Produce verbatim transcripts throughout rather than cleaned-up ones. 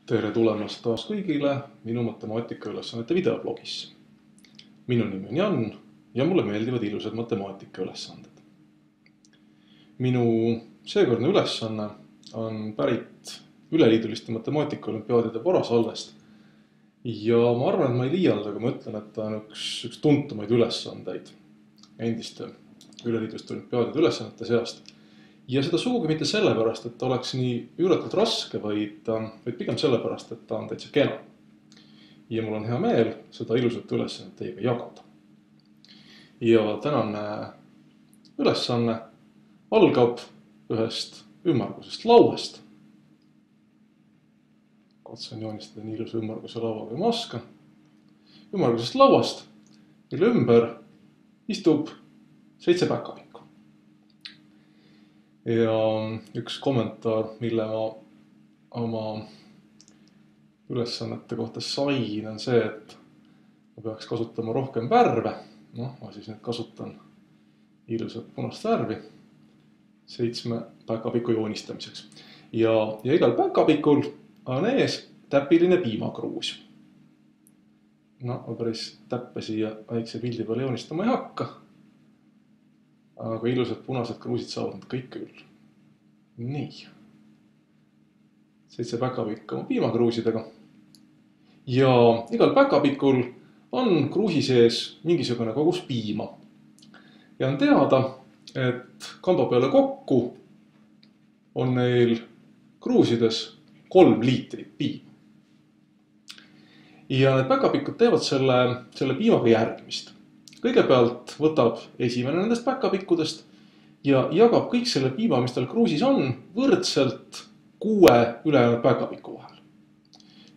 Tere tulemast taas kõigile minu matemaatikaülesannete videoblogisse. Minu nimi on Jan ja mulle meeldivad ilusad matemaatikaülesanded. Minu seekordne ülesanne on pärit üleliiduliste matemaatikaolümpiaadide varasalvest. Ja ma arvan, et ma ei liialda, kui ma ütlen, et ta on üks, üks tuntumaid ülesandeid endiste üleliiduliste olümpiaadide ülesannete seast. Ja seda sugugi mitte sellepärast, et ta oleks nii üüratult raske, vaid, vaid pigem sellepärast, et ta on täitsa kena. Ja mul on hea meel seda ilusat ülesannet teiega jagada. Ja tänane ülesanne algab ühest ümmargusest lauast. Katsun joonistada nii ilus ümmarguse laua kui ma oskan. Ümmargusest lauast, mille ümber istub seitse päkapikku. Ja üks kommentaar, mille ma oma ülesannete kohta sain, on see, et ma peaks kasutama rohkem värve. Noh, ma siis nüüd kasutan ilusat punast värvi seitsme päkapiku joonistamiseks. Ja, ja igal päkapikul on ees täpiline piimakruus. No, ma päris täppe siia väikse pildi peale joonistama ei hakka. Aga ilusad punased kruusid saavad nad kõik küll. Nii. Seitse päkapikku oma piimakruusidega. Ja igal päkapikul on kruusi sees mingisugune kogus piima. Ja on teada, et kamba peale kokku on neil kruusides kolm liitrit piima. Ja need päkapikud teevad selle, selle piimaga järgmist. Kõigepealt võtab esimene nendest päkapikkudest ja jagab kõik selle piima, mis tal kruusis on, võrdselt kuue ülejäänud päkapiku vahel.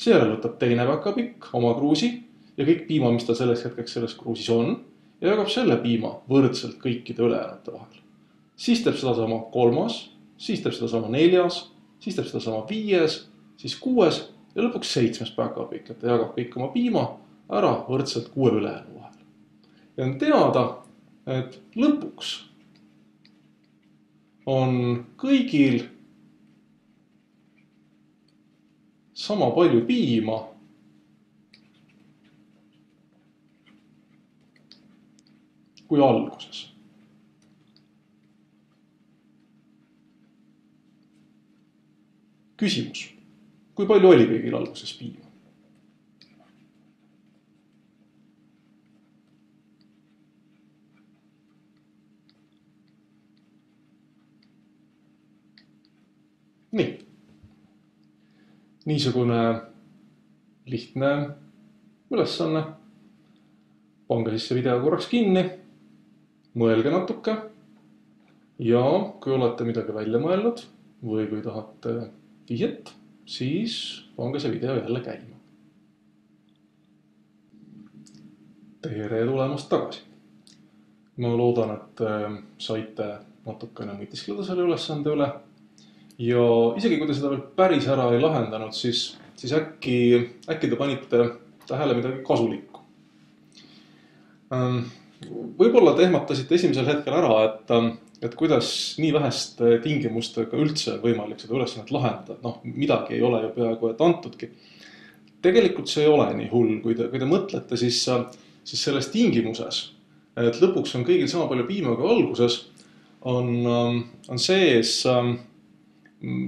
Seejärel võtab teine päkapikk oma kruusi ja kõik piima, mis tal selleks hetkeks selles kruusis on, ja jagab selle piima võrdselt kõikide ülejäänute vahel. Siis teeb seda sama kolmas, siis teeb seda sama neljas, siis teeb seda sama viies, siis kuues ja lõpuks seitsmes päkapikk, et ta jagab kõik oma piima ära võrdselt kuue ülejäänu vahel. Ja on teada, et lõpuks on kõigil sama palju piima kui alguses. Küsimus. Kui palju oli kõigil alguses piima? Nii. Niisugune lihtne ülesanne. Pange siis see video korraks kinni, mõelge natuke ja kui olete midagi välja mõelnud või kui tahate vihjet, siis pange see video jälle käima. Tere tulemast tagasi. Ma loodan, et saite natukene mõtiskleda selle ülesande üle. Ja isegi kui te seda veel päris ära ei lahendanud, siis, siis äkki, äkki te panite tähele midagi kasulikku. Võib-olla te ehmatasite esimesel hetkel ära, et, et kuidas nii väheste tingimustega üldse võimalik seda ülesannet lahendada. Noh, midagi ei ole ju peaaegu et antudki. Tegelikult see ei ole nii hull, kui te, kui te mõtlete, siis, siis selles tingimuses, et lõpuks on kõigil sama palju piima kui alguses, on, on sees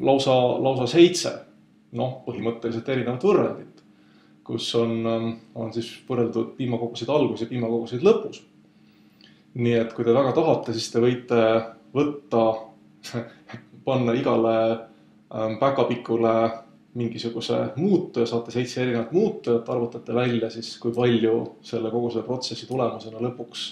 lausa, lausa seitse, noh, põhimõtteliselt erinevat võrrandit, kus on, on siis võrreldud piimakoguseid algus ja piimakoguseid lõpus. Nii et kui te väga tahate, siis te võite võtta, panna igale päkapikule mingisuguse muutuja, saate seitse erinevat muutujat, arvutate välja siis, kui palju selle kogu selle protsessi tulemusena lõpuks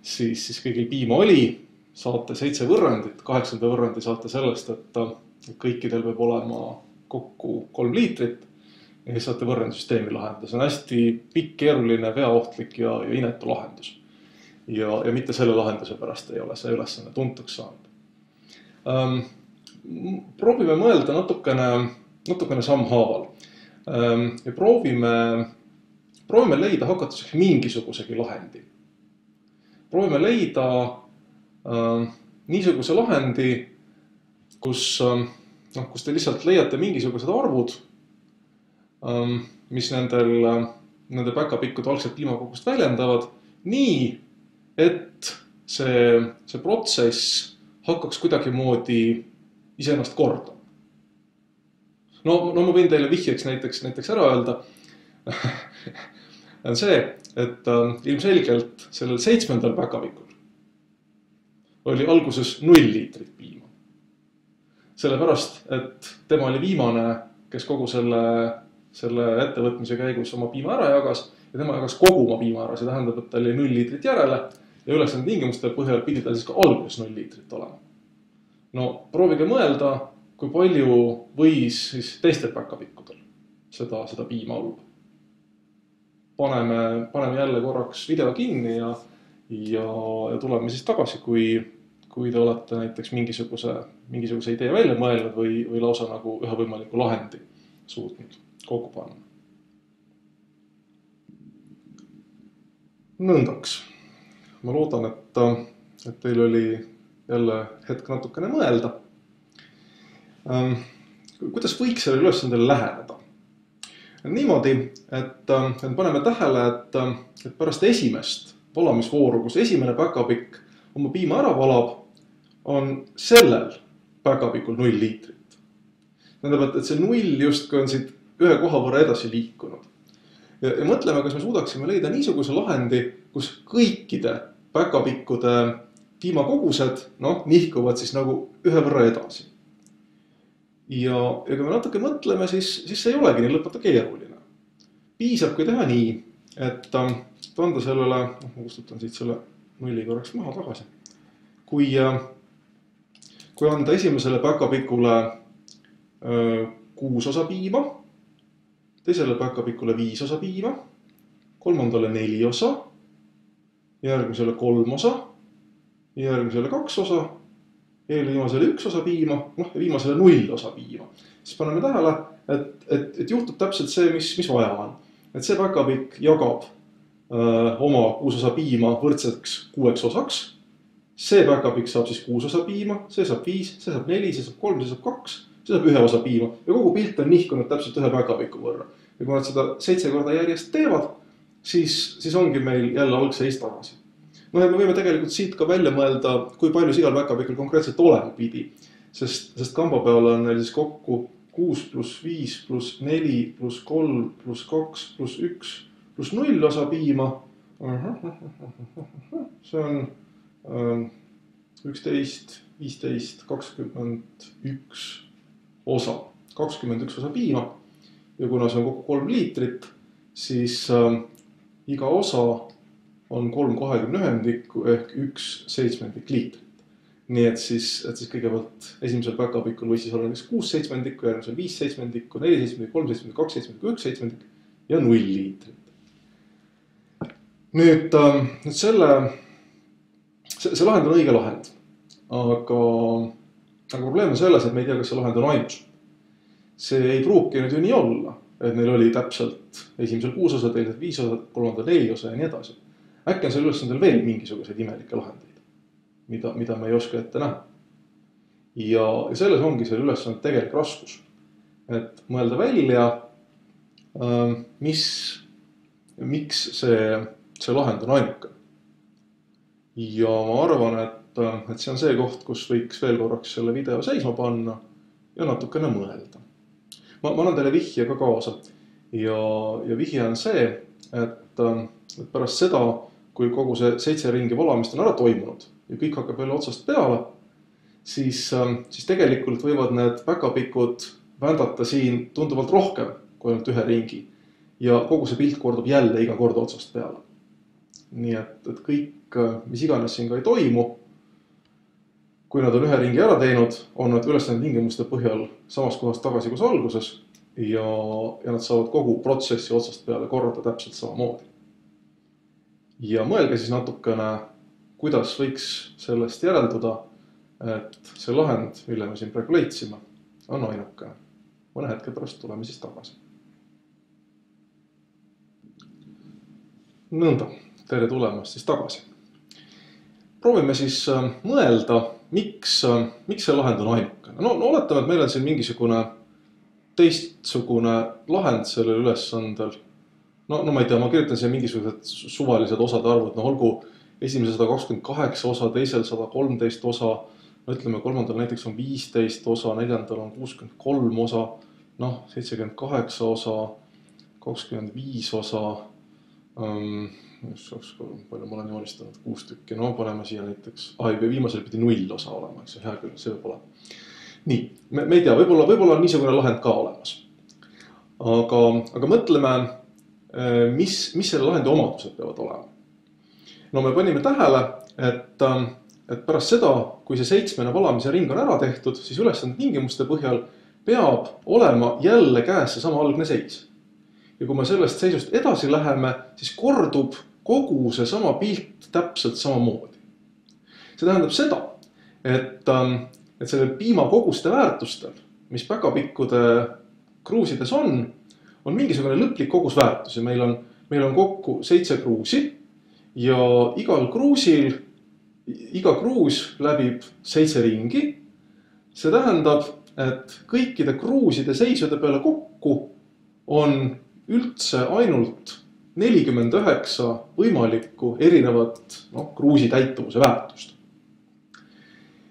siis, siis kõigil piima oli. Saate seitse võrrandit, kaheksanda võrrandi saate sellest, et kõikidel peab olema kokku kolm liitrit ja siis saate võrrandisüsteemi lahendada. See on hästi pikk, keeruline, veaohtlik ja, ja inetu lahendus. Ja, ja mitte selle lahenduse pärast ei ole see ülesanne tuntuks saanud. Ähm, proovime mõelda natukene, natukene sammhaaval. Ähm, ja proovime, proovime leida hakatuseks mingisugusegi lahendi. Proovime leida äh, niisuguse lahendi, kus, äh, noh, kus te lihtsalt leiate mingisugused arvud mis nendel, nende päkapikkude algselt piimakogust väljendavad, nii, et see, see protsess hakkaks kuidagimoodi iseennast korda. No, no ma võin teile vihjeks näiteks, näiteks ära öelda, on see, et ilmselgelt sellel seitsmendal päkapikul oli alguses null liitrit piima. Sellepärast, et tema oli viimane, kes kogu selle, selle ettevõtmise käigus oma piima ära jagas ja tema jagas kogu oma piima ära. See tähendab, et tal oli null liitrit järele ja ülesande tingimuste põhjal pidi tal siis ka alguses null liitrit olema. No proovige mõelda, kui palju võis siis teistel päkapikkudel seda, seda piima olla. Paneme, paneme jälle korraks video kinni ja, ja, ja tuleme siis tagasi, kui, kui te olete näiteks mingisuguse, mingisuguse idee välja mõelnud või, või lausa nagu ühe võimaliku lahendi suutnud kokku panna. Nõndaks. Ma loodan, et, et teil oli jälle hetk natukene mõelda. Kuidas võiks selle ülesandele läheneda? Niimoodi, et, et paneme tähele, et, et pärast esimest valamisvooru, kus esimene päkapikk oma piima ära valab, on sellel päkapikul null liitrit. Tähendab, et, et see null justkui on siit ühe koha võrra edasi liikunud. Ja, ja mõtleme, kas me suudaksime leida niisuguse lahendi, kus kõikide päkapikkude piimakogused no, nihkuvad siis nagu ühe võrra edasi. Ja, ja kui me natuke mõtleme, siis, siis see ei olegi nii lõpeta keeruline. Piisab, kui teha nii, et anda sellele, no, ma kustutan siit selle nulli korraks maha tagasi. Kui, kui anda esimesele päkapikule kuus osa piima, teisele päkapikule viis osa piima, kolmandale neli osa, järgmisele kolm osa, järgmisele kaks osa, eelviimasele üks osa piima, noh ja viimasele null osa piima. Siis paneme tähele, et, et, et juhtub täpselt see, mis, mis vaja on. Et see päkapikk jagab öö, oma kuus osa piima võrdseks kuueks osaks. See päkapikk saab siis kuus osa piima, see saab viis, see saab neli, see saab kolm, see saab kaks, see saab ühe osa piima. Ja kogu pilt on nihkunud täpselt ühe päkapiku võrra. Ja kui nad seda seitse korda järjest teevad, siis, siis ongi meil jälle algseis tagasi. No ja me võime tegelikult siit ka välja mõelda, kui palju igal päkapikul konkreetselt olema pidi. Sest, sest kamba peal on neil siis kokku kuus pluss viis pluss neli pluss kolm pluss kaks pluss üks pluss null osa piima. See on üksteist, viisteist, kakskümmend üks osa. kakskümmend üks osa piima. Ja kuna see on kokku kolm liitrit, siis äh, iga osa on kolm kahekümne ühendikku ehk üks seitsmendik liitrit. Nii et siis, et siis kõigepealt esimesel päkapikul võis siis olla näiteks kuus seitsmendikku, järgmisel viis seitsmendikku, neli seitsmendikku, kolm seitsmendikku, kaks seitsmendikku, üks seitsmendik ja null liitrit. Nüüd, nüüd selle, see, see lahend on õige lahend, aga, aga probleem on selles, et me ei tea, kas see lahend on ainus. See ei pruuki nüüd ju nii olla, et neil oli täpselt esimesel kuus osa, teisel viis osa, kolmandal neli osa ja nii edasi. Äkki on seal ülesandel veel mingisuguseid imelikke lahendeid, mida, mida me ei oska ette näha. Ja, ja selles ongi selle ülesande tegelik raskus. Et mõelda välja, mis, miks see, see lahend on ainuke. Ja ma arvan, et, et see on see koht, kus võiks veel korraks selle video seisma panna ja natukene mõelda. Ma, ma annan teile vihje ka kaasa. Ja, ja vihje on see, et, et pärast seda, kui kogu see seitse ringi valamist on ära toimunud ja kõik hakkab jälle otsast peale, siis, siis tegelikult võivad need päkapikud vändata siin tunduvalt rohkem kui ainult ühe ringi. Ja kogu see pilt kordub jälle iga kord otsast peale. Nii et, et kõik, mis iganes siin ka ei toimu, kui nad on ühe ringi ära teinud, on nad ülesande tingimuste põhjal samas kohast tagasi kus alguses ja, ja nad saavad kogu protsessi otsast peale korrata täpselt samamoodi. Ja mõelge siis natukene, kuidas võiks sellest järelduda, et see lahend, mille me siin praegu leidsime, on ainuke. Mõne hetke pärast tuleme siis tagasi. Nõnda, tere tulemast siis tagasi. Proovime siis mõelda, miks, miks see lahend on ainuke. No, no oletame, et meil on siin mingisugune teistsugune lahend sellel ülesandel. No, no ma ei tea, ma kirjutan siia mingisugused suvalised osade arvud, no olgu esimese sada kakskümmend kaheksa osa, teisel sada kolmteist osa, no ütleme kolmandal näiteks on viisteist osa, neljandal on kuuskümmend kolm osa, noh, seitsekümmend kaheksa osa, kakskümmend viis osa, um, palju ma olen joonistanud, kuus tükki, no paneme siia näiteks, ah, viimasel pidi null osa olema, eks hea küll, see võib olema. Nii, me, me ei tea, võib-olla, võib-olla on niisugune lahend ka olemas. Aga, aga mõtleme, mis, mis selle lahendi omadused peavad olema. No me panime tähele, et, et pärast seda, kui see seitsmene valamise ring on ära tehtud, siis ülesande tingimuste põhjal peab olema jälle käes see sama algne seis. Ja kui me sellest seisust edasi läheme, siis kordub kogu see sama pilt täpselt samamoodi. See tähendab seda, et, et selle piimakoguste väärtustel, mis päkapikkude kruusides on, on mingisugune lõplik kogusväärtus ja meil on, meil on kokku seitse kruusi ja igal kruusil, iga kruus läbib seitse ringi. See tähendab, et kõikide kruuside seisude peale kokku on üldse ainult nelikümmend üheksa võimalikku erinevat no, kruusi täituvuse väärtust.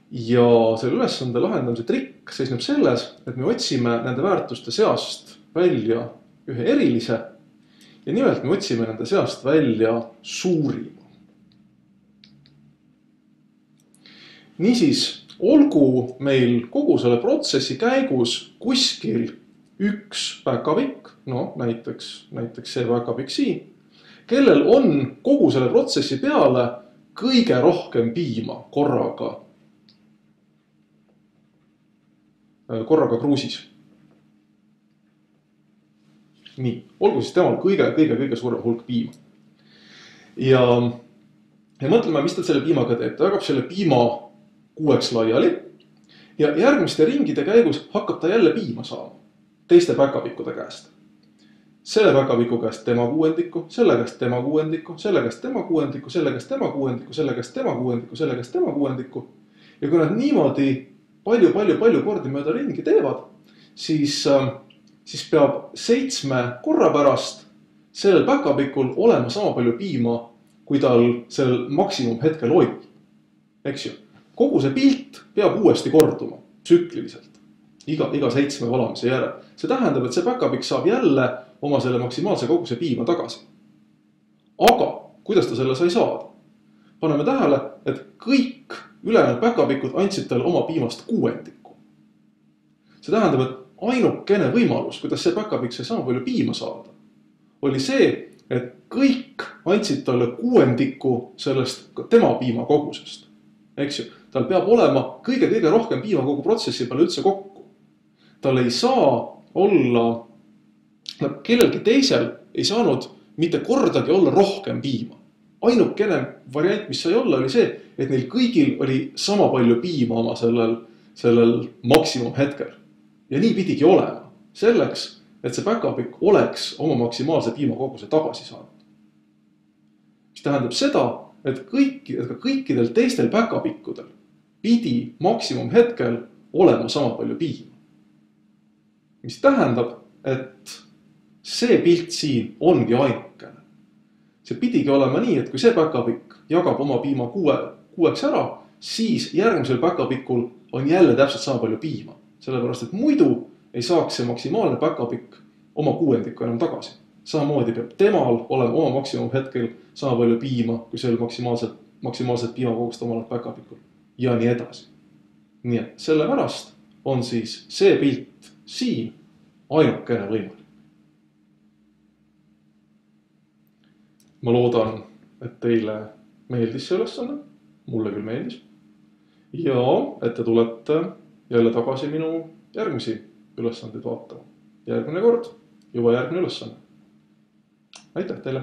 Ja selle ülesande lahendamise trikk seisneb selles, et me otsime nende väärtuste seast välja ühe erilise ja nimelt me otsime nende seast välja suurima. Niisiis, olgu meil kogu selle protsessi käigus kuskil üks päkapikk, no näiteks, näiteks see päkapikk siin, kellel on kogu selle protsessi peale kõige rohkem piima korraga, korraga kruusis. Nii, olgu siis temal kõige, kõige, kõige suurem hulk piima. Ja, ja mõtleme, mis ta selle piimaga teeb. Ta jagab selle piima kuueks laiali ja järgmiste ringide käigus hakkab ta jälle piima saama teiste päkapikkude käest. Selle päkapiku käest tema kuuendiku, selle käest tema kuuendiku, selle käest tema kuuendiku, selle käest tema kuuendiku, selle käest tema kuuendiku, selle käest tema kuuendiku. Ja kui nad niimoodi palju, palju, palju kordi mööda ringi teevad, siis siis peab seitsme korra pärast sellel päkapikul olema sama palju piima, kui tal sellel maksimum hetkel oli. Eks ju? Kogu see pilt peab uuesti korduma, tsükliliselt, iga, iga seitsme valamise järel. See tähendab, et see päkapikk saab jälle oma selle maksimaalse koguse piima tagasi. Aga, kuidas ta selle sai saada? Paneme tähele, et kõik ülejäänud päkapikud andsid talle oma piimast kuuendiku. See tähendab, et ainukene võimalus, kuidas see päkapikk sai sama palju piima saada, oli see, et kõik andsid talle kuuendiku sellest tema piima kogusest. Eks ju, tal peab olema kõige-kõige rohkem piima kogu protsessi peale üldse kokku. Tal ei saa olla, kellelgi teisel ei saanud mitte kordagi olla rohkem piima. Ainukene variant, mis sai olla, oli see, et neil kõigil oli sama palju piima oma sellel, sellel maksimum hetkel. Ja nii pidigi olema, selleks, et see päkapikk oleks oma maksimaalse piimakoguse tagasi saanud. Mis tähendab seda, et, kõik, et ka kõikidel teistel päkapikkudel pidi maksimum hetkel olema sama palju piima. Mis tähendab, et see pilt siin ongi ainukene. See pidigi olema nii, et kui see päkapikk jagab oma piima kuue, kuueks ära, siis järgmisel päkapikul on jälle täpselt sama palju piima. Sellepärast, et muidu ei saaks see maksimaalne päkapikk oma kuuendikku enam tagasi. Samamoodi peab temal olema oma maksimum hetkel sama palju piima, kui sel maksimaalselt, maksimaalselt piimakogust omal päkapikul. Ja nii edasi. Nii et sellepärast on siis see pilt siin ainukene võimalik. Ma loodan, et teile meeldis see ülesanne. Mulle küll meeldis. Ja et te tulete jälle tagasi minu järgmisi ülesandeid vaatama. Järgmine kord juba järgmine ülesanne. Aitäh teile!